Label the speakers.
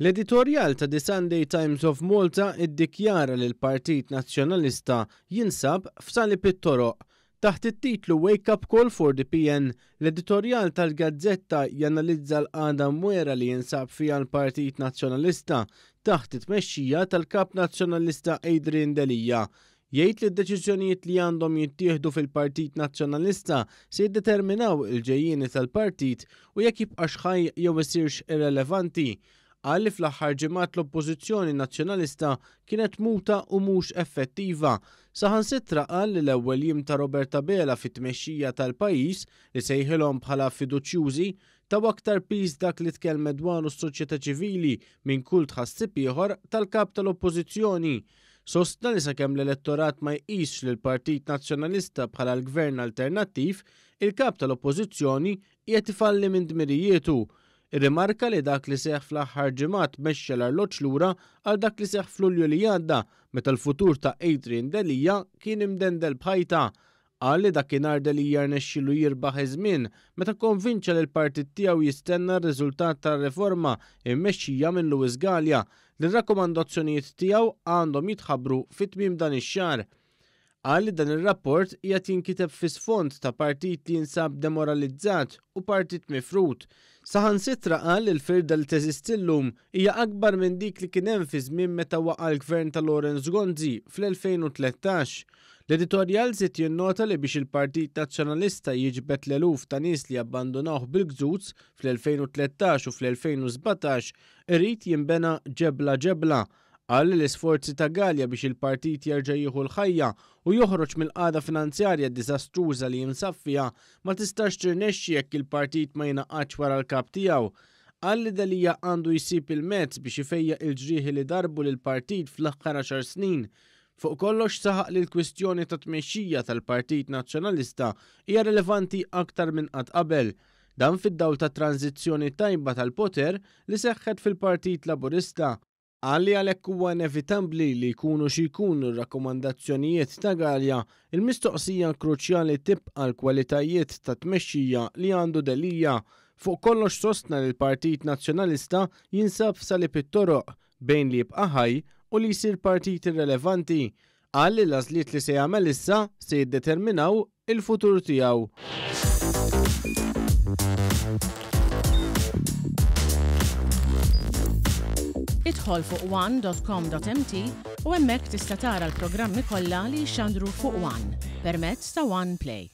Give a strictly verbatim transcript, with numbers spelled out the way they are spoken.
Speaker 1: L-editorjal ta' The Sunday Times of Malta iddikjara li l-Partit Nazzjonalista jinsab f'salib it-toroq. Taħt it-titlu Wake Up Call for the P N, l-editorjal tal-gazzetta janalizza l-qagħda mwera li jinsab fiha l-Partit Nazzjonalista taħt it-tmexxija tal-Kap Nazzjonalista Adrian Delia. Jgħid li d-deċiżjonijiet li għandhom jittieħdu fil-Partit Nazzjonalista se jiddeterminaw il-ġejjieni tal-partit u jekk jibqax ħaj jew isirx irrelevanti. Qal li fl-aħħar ġimgħat l-Oppożizzjoni Nazzjonalista kienet muta u mhux effettiva. Saħansitra qal li l-ewwel jiem ta' Robert Abela fit-tmexxija tal-pajjiż, li sejħilhom bħala fiduċjużi, taw aktar piż dak li tkellmet dwaru s-soċjetà ċivili minn kull tħassib ieħor tal-kap tal-Oppożizzjoni. Sostna li sakemm l-elettorat ma jqisx lil Partit Nazzjonalista bħala l-gvern alternattiv, il-kap tal-Oppożizzjoni qiegħed ifalli minn dmirijietu. Irrimarka li dak li seħ fl-aħħar ġimgħat mexxa l-arloġġ lura għal dak li seħ f'Lulju li għadda, meta l-futur ta' Adrian Delia kien imdendel b'ħajta. Qal li dakinhar Delia rnexxielu jirbaħ iż-żmien meta konvinċa li l-partit tiegħu jistenna r-riżultat tar-riforma immexxija minn Louis Galea, li r-rakkomandazzjonijiet tiegħu għandhom jitħabbru fit-tmiem dan ix-xahar. Qal li dan ir-rapport qiegħed jinkiteb fi sfond ta' partit li jinsab demoralizzat u partit mifrut. Saħansitra qal li l-firda li teżisti llum hija akbar minn dik li kien hemm fi żmien meta waqa' l-gvern ta' Lawrence Gonzi fl-elfejn u tlettax. L-editorjal żied jinnota li biex il-Partit Nazzjonalista jiġbed l-eluf ta' nies li abbandonawh bil-gżuz fl-elfejn u tlettax u fl-elfejn u sbatax, irid jinbena ġebla ġebla. Qal li l-isforzi ta' Galea biex il-partit jerġa' jieħu l-ħajja u joħroġ mill-qagħda finanzjarja diżastruża li jinsab fiha ma tistax tirnexxi jekk il-partit ma jingħaqadx wara l-kap tiegħu. Qal li Delia għandu jsib il-mezz biex ifejjaq il-ġrieħi li darbu lil partit fl-aħħar għaxar snin. Fuq kollox saħaq li l-kwistjoni ta' tmexxija tal-Partit Nazzjonalista hija rilevanti aktar minn qatt qabel. Dan fid-dawl ta' tranzizzjoni tajba tal-poter li seħħet fil-Partit Laburista. Qal li għalhekk huwa inevitabbli li jkunu xi jkunu r-rakkomandazzjonijiet ta' Galea, il-mistoqsija kruċjali tibqa' l-kwalitajiet ta' tmexxija li għandu Delia. Fuq kollox sostna li l-Partit Nazzjonalista jinsab f'salib it-toroq bejn li jibqa' ħaj u li jsir partit irrelevanti. Qal li l-għażliet li se jagħmel issa se jiddeterminaw il-futur tiegħu.
Speaker 2: Idħol fuq one dot com dot M T u hemmhekk tista' tara l-programmi kollha li jixxandru fuq One permezz ta' One Play.